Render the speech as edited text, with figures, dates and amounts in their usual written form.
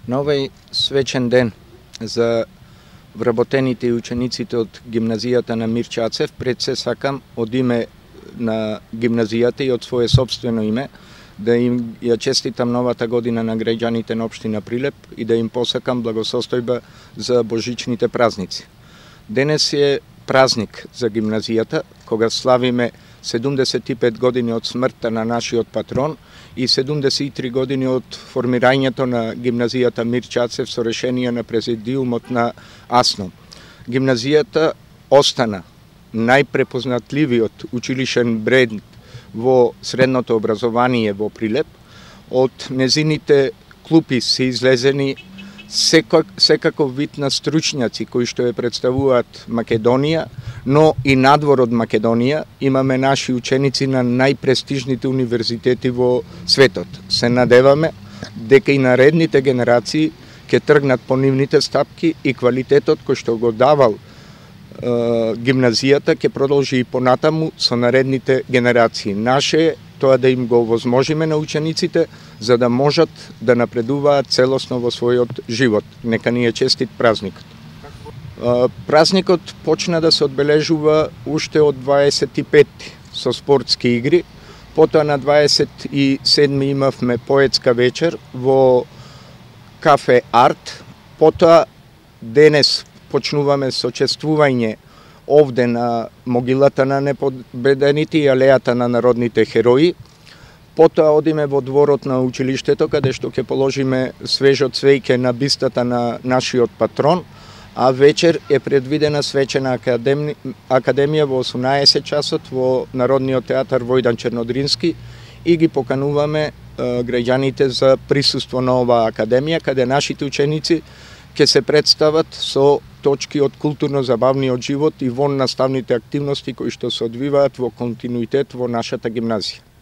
На овој свечен ден за вработените и учениците од гимназијата на Мир Чацев, пред се сакам од име на гимназијата и од свое собствено име да им ја честитам новата година на граѓаните на општина Прилеп и да им посакам благосостојба за божичните празници. Денес е празник за гимназијата, кога славиме 75 години од смртта на нашиот патрон и 73 години од формирањето на гимназијата Мир Чацев со решение на президиумот на АСНО. Гимназијата остана најпрепознатливиот училишен бренд во средното образование во Прилеп. Од незините клупи се излезени секаков вид на стручњаци кои што ја представуваат Македонија, но и надвор од Македонија. Имаме наши ученици на најпрестижните универзитети во светот. Се надеваме дека и наредните генерации ќе тргнат по нивните стапки и квалитетот кој што го давал гимназијата ќе продолжи и понатаму со наредните генерации. Наше е тоа да им го овозможиме на учениците за да можат да напредуваат целосно во својот живот. Нека ни е честит празникот. Празникот почна да се одбележува уште од 25 со спортски игри, потоа на 27 имавме поетска вечер во кафе Арт, потоа денес почнуваме со чествување овде на могилата на непобедените и алејата на народните херои. Потоа одиме во дворот на училиштето, каде што ќе положиме свежо цвеќе на бистата на нашиот патрон, а вечер е предвидена свечена академија во 18 часот во Народниот театар Војдан Чернодрински и ги покануваме граѓаните за присуство на оваа академија, каде нашите ученици ќе се представат со точки од културно-забавниот живот и вон наставните активности кои што се одвиваат во континуитет во нашата гимназија.